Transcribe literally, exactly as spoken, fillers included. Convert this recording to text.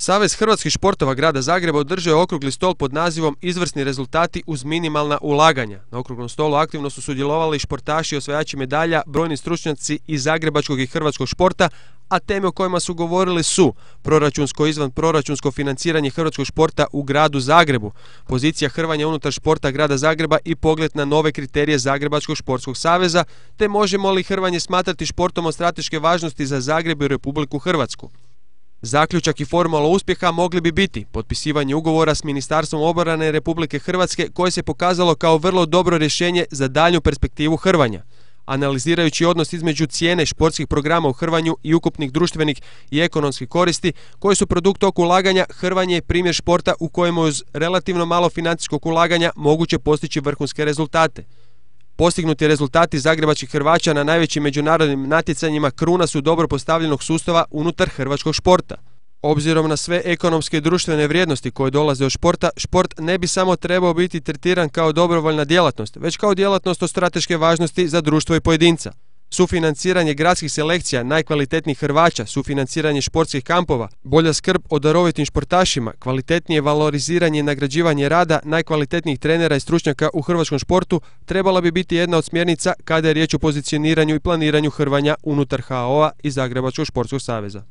Savez hrvatskih športova grada Zagreba održao je okrugli stol pod nazivom Izvrsni rezultati uz minimalna ulaganja. Na okruglom stolu aktivno su sudjelovali športaši i osvajači medalja, brojni stručnjaci iz zagrebačkog i hrvatskog športa, a teme o kojima su govorili su proračunsko i izvanproračunsko financiranje hrvatskog športa u gradu Zagrebu, pozicija hrvanja unutar športa grada Zagreba i pogled na nove kriterije Zagrebačkog športskog saveza, te možemo li hrvanje smatrati športom od strateške važnosti za Zagreb i Republiku Hrvatsku. Zaključak i formula uspjeha mogli bi biti potpisivanje ugovora s Ministarstvom obrane Republike Hrvatske koje se pokazalo kao vrlo dobro rješenje za daljnju perspektivu hrvanja. Analizirajući odnos između cijene športskih programa u hrvanju i ukupnih društvenih i ekonomskih koristi koji su produkt tog ulaganja, hrvanje je primjer športa u kojemu uz relativno malo financijskog ulaganja moguće postići vrhunske rezultate. Postignuti rezultati zagrebačkih Hrvaća na najvećim međunarodnim natjecanjima kruna su dobro postavljenog sustava unutar hrvatskog športa. Obzirom na sve ekonomske i društvene vrijednosti koje dolaze od športa, šport ne bi samo trebao biti tretiran kao dobrovoljna djelatnost, već kao djelatnost od strateške važnosti za društvo i pojedinca. Sufinanciranje gradskih selekcija najkvalitetnijih Hrvaća, sufinanciranje športskih kampova, bolja skrb o darovitim športašima, kvalitetnije valoriziranje i nagrađivanje rada najkvalitetnijih trenera i stručnjaka u hrvatskom športu trebala bi biti jedna od smjernica kada je riječ o pozicioniranju i planiranju hrvanja unutar H O A i Zagrebačkog športskog saveza.